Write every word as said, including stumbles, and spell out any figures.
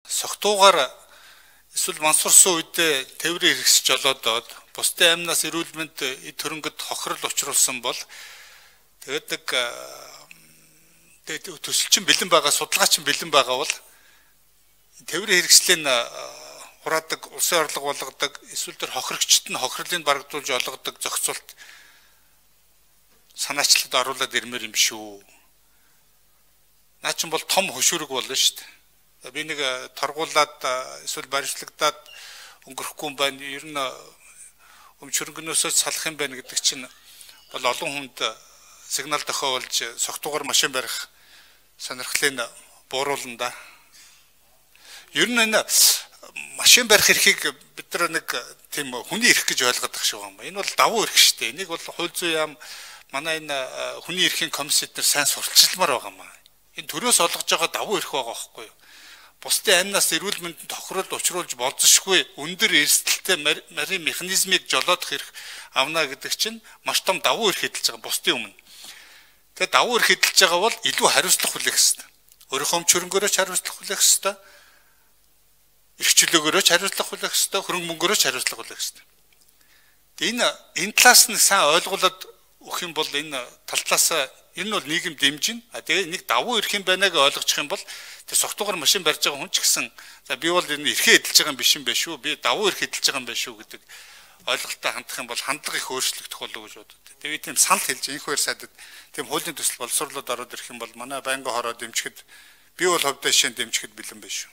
согтуугаар эсвэл мансурсан үедээ тээврийн хэрэгсэж олоодод бусдын амнаас эрүүл мэнд эд хөрөнгөд хохирол учруулсан бол тэгээд нэг тэгээд төсөлчин бэлэн байгаа, судалгаачин бэлэн байгаа бол тээврийн хэрэгслийн хураадаг, улсын орлого болгодог, эсвэл тэр хохирогчд нь хохирлыг барагдуулж олгодог зохицуулт санаачлалд оруулаад ирмээр юм шүү. Наа чинь бол том хөшүүрэг болно шүү дээ. Би нэг торгуулаад эсвэл баримтлагдаад өнгөрөхгүй юм байна. Ер нь өмчөрөнгнөөсөө салах юм байна гэдэг чинь бол олон хүнд сигнал тохиолж согтуугаар машин барих сонирхлыг бууруулна да. Ер нь энэ машин барих эрхийг бид нар нэг тийм хүний эрх гэж ойлгоод байгаа шүү юм. Энэ бол давуу эрх шүү дээ. Энийг бол хууль зүйн яам манай энэ хүний эрхийн комиссид нар сайн сурталчилмаар байгаа юм. Энэ төрөөс олгож байгаа давуу эрх байгаа байхгүй юу? Бусдын амнаас эрүүл мэндэд тохирол учруулж болзошгүй өндөр эрсдэлтэй марийн механизмыг жолоодох эрх авна гэдэг чинь маш том давуу эрх хэдэлж байгаа бусдын өмнө. Тэгээ давуу эрх хэдэлж байгаа бол илүү хариуцлага хүлээх ёстой. Өөрийнхөө хөрөнгөөрөө ч хариуцлага хүлээх ёстой. Их чөлөөгөөрөө ч хариуцлага хүлээх ёстой, хөрөнгө мөнгөөрөө ч хариуцлага хүлээх ёстой. Тэгээ энэ энэ талаас нь сайн ойлгуулад өгөх юм бол энэ тал талаас энэ нь бол нийгэм дэмжинэ. А тэгээ нэг давуу эрх юм байна гэж ойлгочих юм бол тэр согтуугаар машин барьж байгаа хүн ч гэсэн за би бол энэ эрхээ эдэлж байгаа юм биш юм байна шүү. Би давуу эрх эдэлж байгаа юм байна шүү гэдэг ойлголттой хандах юм бол хандлага их өөрчлөгдөх болов гэж бодод. Тэгээ тийм санал хэлж энэ хоёр сайдад тийм хуулийн төсөл боловсруулаад ороод ирэх юм бол манай байнгын хороо дэмжихэд би бол ховдоо шин дэмжихэд бэлэн байна шүү.